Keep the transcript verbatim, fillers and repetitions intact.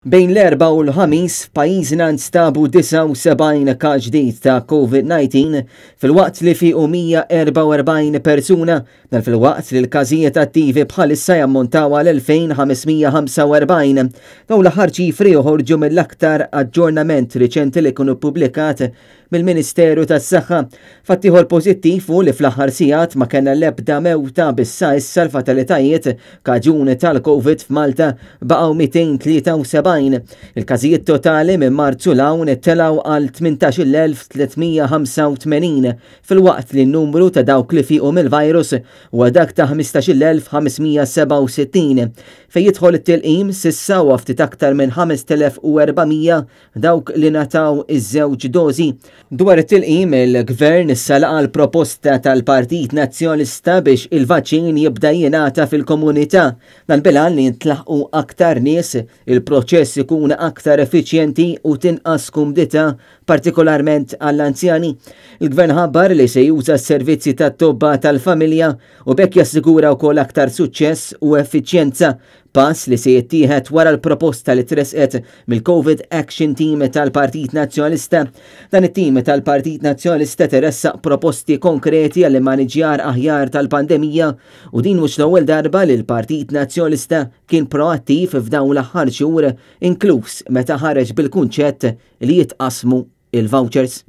Bejn l-Erbgħa u l-Ħamis f'pajjiżna nstabu disgħa u sebgħin każ ġdid ta' COVID dsatax filwaqt li fiequ mija erbgħa u erbgħin persuna, dan filwaqt li l-każijiet attivi bħalissa jammontaw għal elfejn ħames mija ħamsa u erbgħin. Dawn l-aħħar ċifri joħorġu mill-aktar aġġornament riċenti li kienu ppubblikat mill-Ministeru tas-Saħħa. Fatt ieħor pożittiv hu li fl-aħħar sigħat ma kellna l-ebda mewta, bissa issa l-fatalitajiet kaġun tal-Covid f'Malta baqgħu mitejn tlieta u sebgħin. Il-każijiet totali minn Marzu 'l hawn telgħu għal tmintax-il elf tliet mija ħamsa u tmenin filwaqt li n-numru ta' dawk li fiequ mill-virus huwa dak ta' ħmistax-il elf ħames mija sebgħa u sittin. Fejn jidħol it-tilqim, s'issa u ftit aktar minn ħamest elef u erba' mija dawk li ngħataw iż-żewġ dozi. Dwar it-tilqim, il-Gvern issa laqa l-proposta tal-Partit Nazzjonalista biex il-vaċċin jibda jingħata fil-komunità. Dan bil-għan li jintlaħqu aktar nies, il-proċess ikun aktar effiċjenti u tinqas kumdità, partikolarment għall-anzjani. Il-Gvern ħabbar li se juża s-servizzi tat-tobba tal-familja u b'hekk jassigura wkoll aktar suċċess u effiċjenza, pass li se jittieħed wara l-proposta li tresqet mill-Covid Action Team tal-Partit Nazzjonalista. Dan it-tim tal-Partit Nazzjonalista ressaq proposti konkreti għall maniġjar aħjar tal-pandemija u din mhux l-ewwel darba li l-Partit Nazzjonalista kien proattiv f'dawn l-aħħar xhur, inkluż meta ħareġ bil-kunċett li jitqasmu il-vouchers.